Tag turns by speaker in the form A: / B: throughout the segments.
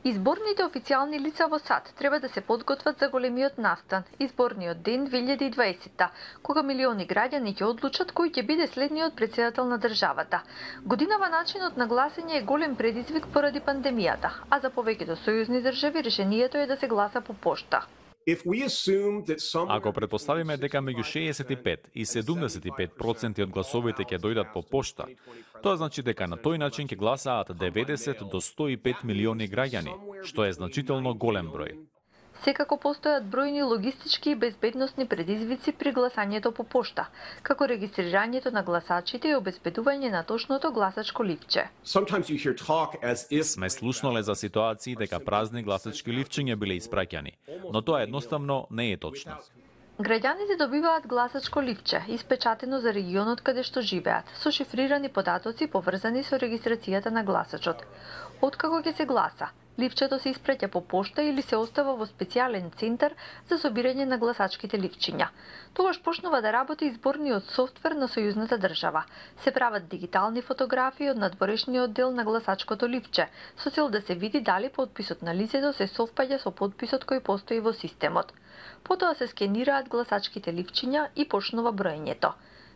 A: Изборните официјални лица во САД треба да се подготват за големиот настан, изборниот ден 2020, кога милиони граѓани ќе одлучат кој ќе биде следниот председател на државата. Годинава начинот на гласање е голем предизвик поради пандемијата, а за повеќето сојузни држави решението е да се гласа по пошта.
B: Ако претпоставиме дека меѓу 65 и 75% од гласовите ќе дојдат по пошта, тоа значи дека на тој начин ќе гласаат 90 до 105 милиони граѓани, што е значително голем број.
A: Секако постојат бројни логистички и безбедносни предизвици при гласањето по пошта, како регистрирањето на гласачите и обезбедување на точното гласачко ливче.
B: Сме слушнале за ситуации дека празни гласачки ливчиња биле испраќани, но тоа едноставно не е точно.
A: Граѓаните добиваат гласачко ливче, испечатено за регионот каде што живеат, со шифрирани податоци поврзани со регистрацијата на гласачот. Откако ќе се гласа, ливчето се испраќа по пошта или се остава во специјален центар за собирање на гласачките ливчиња. Тогаш почнува да работи изборниот софтвер на сојузната држава. Се прават дигитални фотографии од надворешниот дел на гласачкото ливче, со цел да се види дали подписот на лицето се совпаѓа со подписот кој постои во системот. Потоа се скенираат гласачките ливчиња и почнува броењето.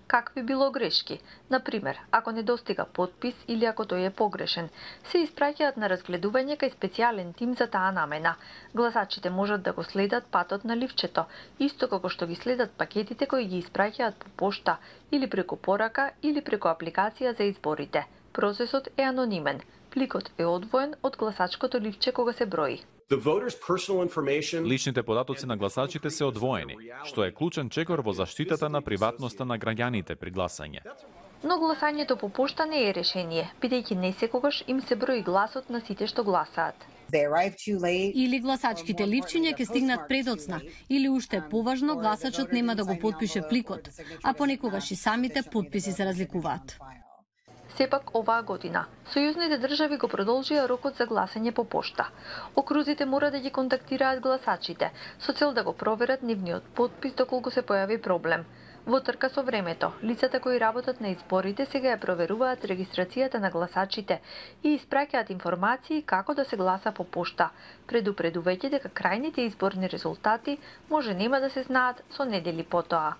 A: Какви било грешки, например, ако недостига подпис или ако тој е погрешен, се испраќаат на разгледување кај специјален тим за таа намена. Гласачите можат да го следат патот на ливчето, исто како што ги следат пакетите кои ги испраќаат по пошта или преку порака или преку апликација за изборите. Процесот е анонимен. Пликот е одвоен од гласачкото ливче кога се брои.
B: Личните податоци на гласачите се одвоени, што е клучен чекор во заштитата на приватноста на граѓаните при гласање.
A: Но гласањето по пошта не е решение, бидејќи не секогаш им се брои гласот на сите што гласаат.
C: Или гласачките ливчиња ќе стигнат предоцна, или уште поважно, гласачот нема да го потпише пликот, а понекогаш и самите подписи се разликуваат.
A: Сепак оваа година, сојузните држави го продолжија рокот за гласање по пошта. Окрузите мора да ги контактираат гласачите, со цел да го проверат нивниот подпис доколку се појави проблем. Во трка со времето, лицата кои работат на изборите сега ја проверуваат регистрацијата на гласачите и испраќаат информации како да се гласа по пошта, предупредувајќи дека крајните изборни резултати може нема да се знаат со недели потоа.